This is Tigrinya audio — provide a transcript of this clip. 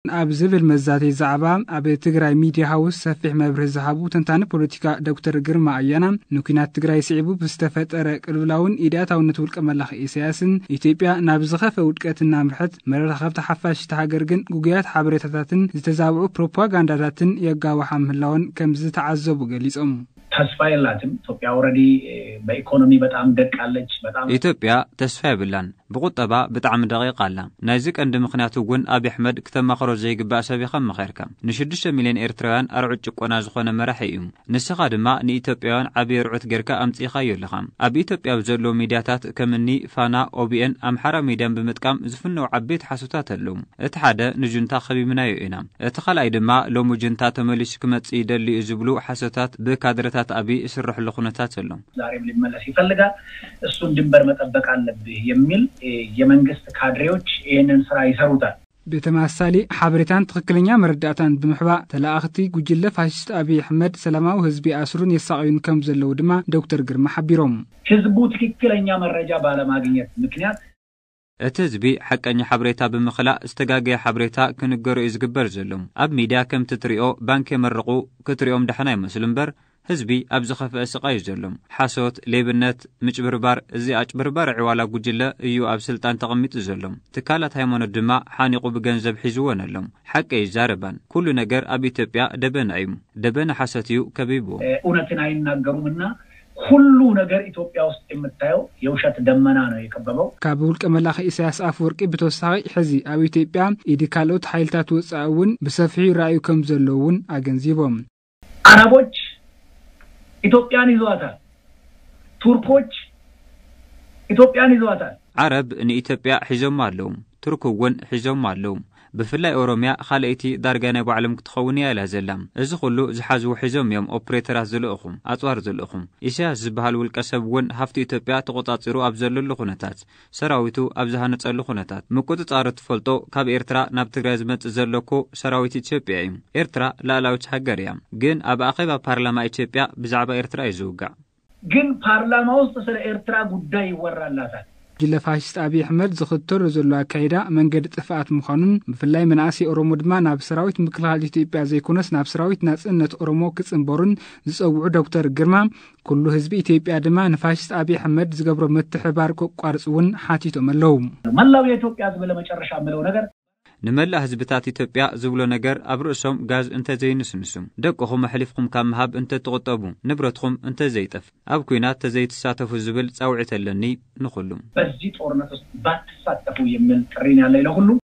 ኣብ ዝብል መዛተይ ዛዕባ ኣብ ትግራይ ሚድያ ሃውስ ሰፊሕ መብርሂ ዝሃቡ ተንታኒ ፖለቲካ ዶክተር ግርማ ኣያና፣ ንኲናት ትግራይ ስዒቡ ብዝተፈጠረ ቅልውላውን ኢድኣታውነት ውልቀ መላኺ ኢሳያስን ኢትዮጵያ ናብ ዝኸፈ ውድቀት እናምርሐት፣ መራኸብቲ ሓፋሽ እታ ሃገር ግን ግጉያት ሓበሬታታትን ዝተዛብዑ ፕሮፓጋንዳታትን የጋውሓ ምህላወን ከም ዝተዓዘቡ ገሊጾም። ተስፋ የላትም ኢትዮጵያ። ኦልሬዲ በኢኮኖሚ በጣም ደቃለች። በጣም ኢትዮጵያ ተስፋ የብላን። ብቁጠባ ብጣዕሚ ደቂቕ ኣላ። ናይዚ ቀንዲ ምኽንያት እውን ኣብይ ኣሕመድ ክተማኽሮ ዘይግባእ ሰብ ኢኻ መኸርካ። ንሽዱሽተ ሚልዮን ኤርትራውያን ኣርዑት ጭቆና ዝኾነ መራሒ እዩ። ንስኻ ድማ ንኢትዮጵያውያን ዓብዪ ኣርዑት ጌርካ ኣምጺእኻዮ ኣለኻ። ኣብ ኢትዮጵያ ኣብ ዘለዉ ሚድያታት ከም እኒ ፋና፣ ኦቢኤን፣ ኣምሓራ ሚድያን ብምጥቃም ዝፍነዉ ዓበይቲ ሓሶታት ኣለዉ። እቲ ሓደ ንጁንታ ከቢብናዮ ኢና። እቲ ካልኣይ ድማ ሎሚ ጁንታ ተመሊሱ ክመጽእ ይደሊ እዩ ዝብሉ ሓሶታት ብካድረታት ኣብይ ይስረሕሉ ኩነታት ኣሎ። ዛሬም ሊመለስ ይፈልጋል። እሱን ድንበር መጠበቅ አለብህ የሚል የመንግስት ካድሬዎች ይህንን ስራ ይሰሩታል። ብተመሳሳሊ ሓበሬታን ትኽክለኛ መረዳእታን ብምሕባእ ተለኣኽቲ ጉጅለ ፋሽስት ኣብይ ኣሕመድ ሰላማዊ ህዝቢ ኣስሩን የሳቕዩን ከም ዘለዉ ድማ ዶክተር ግርማ ሓቢሮም። ህዝቡ ትክክለኛ መረጃ ባለማግኘት ምክንያት እቲ ህዝቢ ሓቀኛ ሓበሬታ ብምኽላእ ዝተጋገየ ሓበሬታ ክንገሮ እዩ ዝግበር ዘሎ። ኣብ ሚድያ ከምቲ ትሪኦ ባንክ የመርቑ ክትሪኦም ደሓን ኣይመስሉ እምበር ህዝቢ ኣብ ዝኸፍአ ስቓይ እዩ ዘሎ። ሓሶት፣ ሌብነት፣ ምጭብርባር፣ እዚ ኣጭበርባሪ ዕዋላ ጉጅለ እዩ ኣብ ስልጣን ተቐሚጡ ዘሎ። ትካላት ሃይማኖት ድማ ሓኒቑ ብገንዘብ ሒዝወን ኣሎ። ሓቂ ኣይዛረባን። ኩሉ ነገር ኣብ ኢትዮጵያ ደበና እዩ። ደበና ሓሶት እዩ ከቢብዎ። እውነትን አይናገሩም እና ሁሉ ነገር ኢትዮጵያ ውስጥ የምታየው የውሸት ደመና ነው የከበበው። ካብ ውልቀ መላኺ ኢሳያስ ኣፈወርቂ ብተወሳኺ ሕዚ ኣብ ኢትዮጵያ ኢድ ካልኦት ሓይልታት ወፃኢ እውን ብሰፊሑ ይረኣዩ ከም ዘለዉ እውን ኣገንዚቦም። አረቦች ኢትዮጵያን ይዘዋታል። ቱርኮች ኢትዮጵያን ይዘዋታል። ዓረብ ንኢትዮጵያ ሒዞማ ኣለዉ። ቱርክ እውን ሒዞማ ኣለዉ። ብፍላይ ኦሮምያ ካልኣይቲ ዳርጋ ናይ ባዕሎም ክትኸውን እያ ኢላ ዘላ። እዚ ኩሉ ዝሓዝዎ ሒዞም እዮም ኦፕሬተራት ዝልእኹ፣ ኣፅዋር ዝልእኹ። ኢሳያስ ዝበሃል ውልቀ ሰብ እውን ሃፍቲ ኢትዮጵያ ተቖፃፂሩ ኣብ ዘለሉ ኩነታት፣ ሰራዊቱ ኣብ ዝሃነፀሉ ኩነታት፣ ምቁፅፃሩ ትፈልጦ ካብ ኤርትራ ናብ ትግራይ ዝመፅእ ዘሎ እኮ ሰራዊት ኢትዮጵያ እዩ። ኤርትራ ላእላዊት ሃገር እያ። ግን ኣብ ኣኼባ ፓርላማ ኢትዮጵያ ብዛዕባ ኤርትራ እዩ ዝውጋዕ። ግን ፓርላማ ውስጥ ስለ ኤርትራ ጉዳይ ይወራላታል። ጉጅለ ፋሽስት ኣብይ ኣሕመድ ዝኽተሎ ዘሎ ኣካይዳ መንገዲ ጥፍኣት ምዃኑን ብፍላይ መናእሰይ ኦሮሞ ድማ ናብ ሰራዊት ምክልኻል ኢትዮጵያ ዘይኮነስ ናብ ሰራዊት ናጽነት ኦሮሞ ክጽንበሩን ዝጸውዑ ዶክተር ግርማ፣ ኩሉ ህዝቢ ኢትዮጵያ ድማ ንፋሽስት ኣብይ ኣሕመድ ዝገብሮ ምትሕባር ከቋርጽ እውን ሓቲቶም ኣለዉ። መላው የኢትዮጵያ ህዝብ ለመጨረሻ የምለው ነገር ንመላእ ህዝብታት ኢትዮጵያ ዝብሎ ነገር ኣብ ርእሶም ጋዝ እንተዘይንስንሱ፣ ደቅኹም ኣሕሊፍኹም ካብ ምሃብ እንተትቑጠቡ፣ ንብረትኹም እንተዘይጠፍ፣ ኣብ ኲናት ተዘይትሳተፉ ዝብል ጻውዒት ኣለኒ ንኹሉ። በዚህ ጦርነት ውስጥ ባትሳተፉ የሚል ጥሪ ነው ያለኝ ለሁሉም።